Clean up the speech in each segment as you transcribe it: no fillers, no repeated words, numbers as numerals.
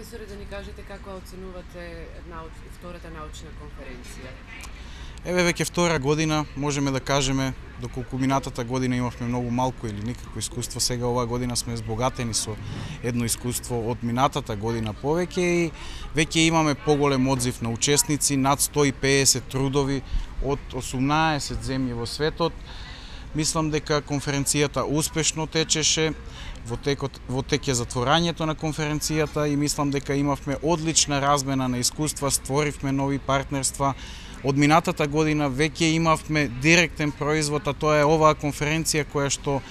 професоре, да ни кажете како оценувате втората научна конференција? Еве веќе втора година, можеме да кажеме, доколку минатата година имавме многу малку или никакво искуство, сега оваа година сме збогатени со едно искуство од минатата година повеќе и веќе имаме поголем одзив на учесници, над 150 трудови од 18 земји во светот. Мислам дека конференцијата успешно течеше, во тек е затворањето на конференцијата и мислам дека имавме одлична размена на искуства, створивме нови партнерства. Од минатата година веќе имавме директен производ, а тоа е оваа конференција која што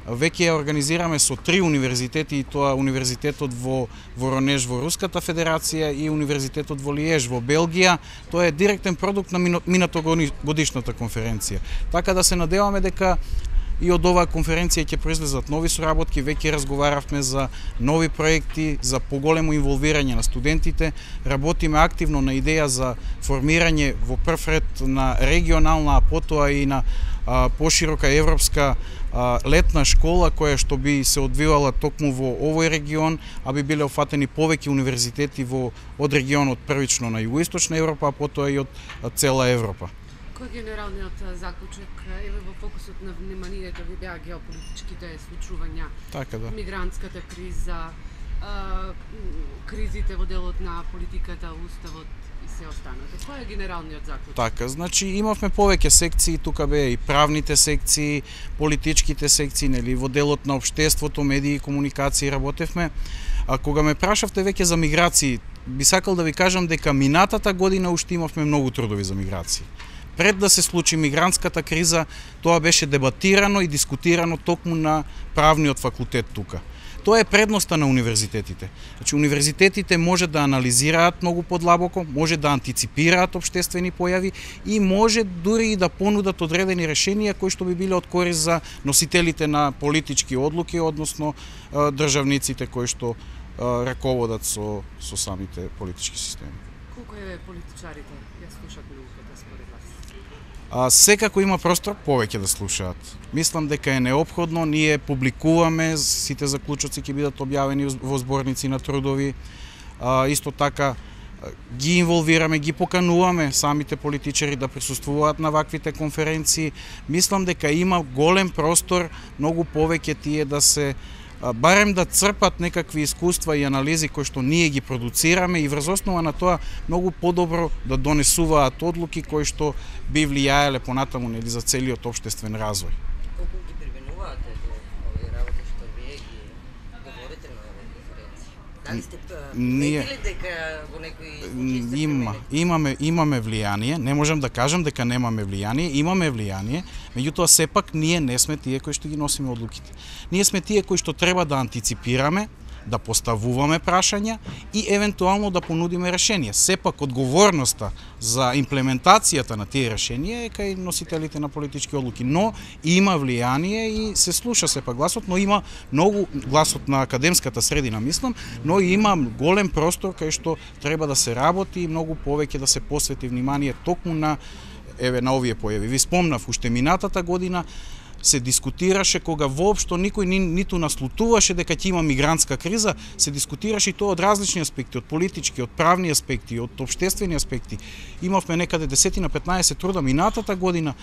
веќе ја организираме со 3 универзитети, и тоа универзитетот во Воронеж во Руската Федерација и универзитетот во Лиеж во Белгија. Тоа е директен продукт на минатогодишната конференција. Така да се надеваме дека и од оваа конференција ќе произлезат нови соработки, веќе разговаравме за нови проекти, за поголемо инволвирање на студентите, работиме активно на идеја за формирање во прв ред на регионална, а потоа и на поширока европска летна школа која што би се одвивала токму во овој регион, а би биле офатени повеќе универзитети од регионот, првично на југоисточна Европа, а потоа и од цела Европа. Кој е генералниот заклучок? Еве во фокусот на вниманието ви беа геополитичките случувања, така да. Мигрантската криза, кризите во делот на политиката, уставот и се останато. Кој е генералниот заклучок? Така, значи имавме повеќе секции, тука беа и правните секции, политичките секции, нели, во делот на општеството, медии и комуникации работевме. А кога ме прашавте веќе за миграции, би сакал да ви кажам дека минатата година уште имавме многу трудови за миграции. Пред да се случи мигрантската криза, тоа беше дебатирано и дискутирано токму на правниот факултет тука. Тоа е предноста на универзитетите. Значи, универзитетите може да анализираат многу подлабоко, може да антиципираат општествени појави и може дури и да понудат одредени решенија кои што би биле од корист за носителите на политички одлуки, односно државниците кои што раководат со самите политички системи. Колку е политичарите ја слушаат науката според вас? Секако има простор повеќе да слушаат. Мислам дека е неопходно, ние публикуваме, сите заклучоци ќе бидат објавени во зборници на трудови. Исто така ги инволвираме, ги покануваме самите политичари да присуствуваат на ваквите конференции. Мислам дека има голем простор, многу повеќе тие да се барем да црпат некакви искуства и анализи кои што ние ги продуцираме и врз основа на тоа многу подобро да донесуваат одлуки кои што би влијаеле понатаму, нели, за целиот општествен развој. Колку ги применувате овие работи што вие ги говорите на оваа конференција? Дали сте приметили дека во некои имаме влијание, не можам да кажам дека немаме влијание, имаме влијание, меѓутоа сепак ние не сме тие кои што ги носиме одлуките. Ние сме тие кои што треба да антиципираме, да поставуваме прашања и евентуално да понудиме решенија. Сепак одговорноста за имплементацијата на тие решенија е кај носителите на политички одлуки, но има влијание и се слуша сепак гласот, но има многу гласот на академската средина, мислам, но има голем простор кај што треба да се работи и многу повеќе да се посвети внимание токму на овие појави. Ви спомнав, уште минатата година се дискутираше кога воопшто никој ниту наслутуваше дека ќе има мигрантска криза, се дискутираше и тоа од различни аспекти, од политички, од правни аспекти, од општествени аспекти. Имавме некаде 10 на 15 труда минатата година.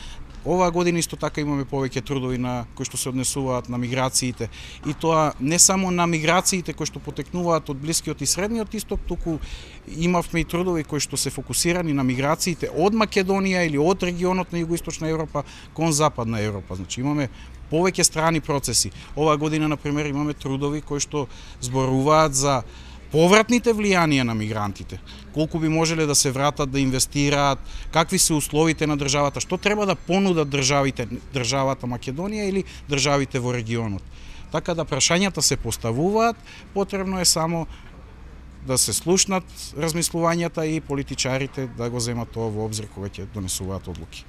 Оваа година исто така имаме повеќе трудови на кои што се однесуваат на миграциите, и тоа не само на миграциите кои што потекнуваат од Блискиот и Средниот исток, туку имавме и трудови кои што се фокусирани на миграциите од Македонија или од регионот на Југоисточна Европа кон Западна Европа. Значи имаме повеќе страни процеси. Оваа година, например, имаме трудови кои што зборуваат за повратните влијанија на мигрантите, колку би можеле да се вратат, да инвестираат, какви се условите на државата, што треба да понудат државата Македонија или државите во регионот. Така да прашањата се поставуваат, потребно е само да се слушнат размислувањата и политичарите да го земат тоа во обзир кога ќе донесуваат одлуки.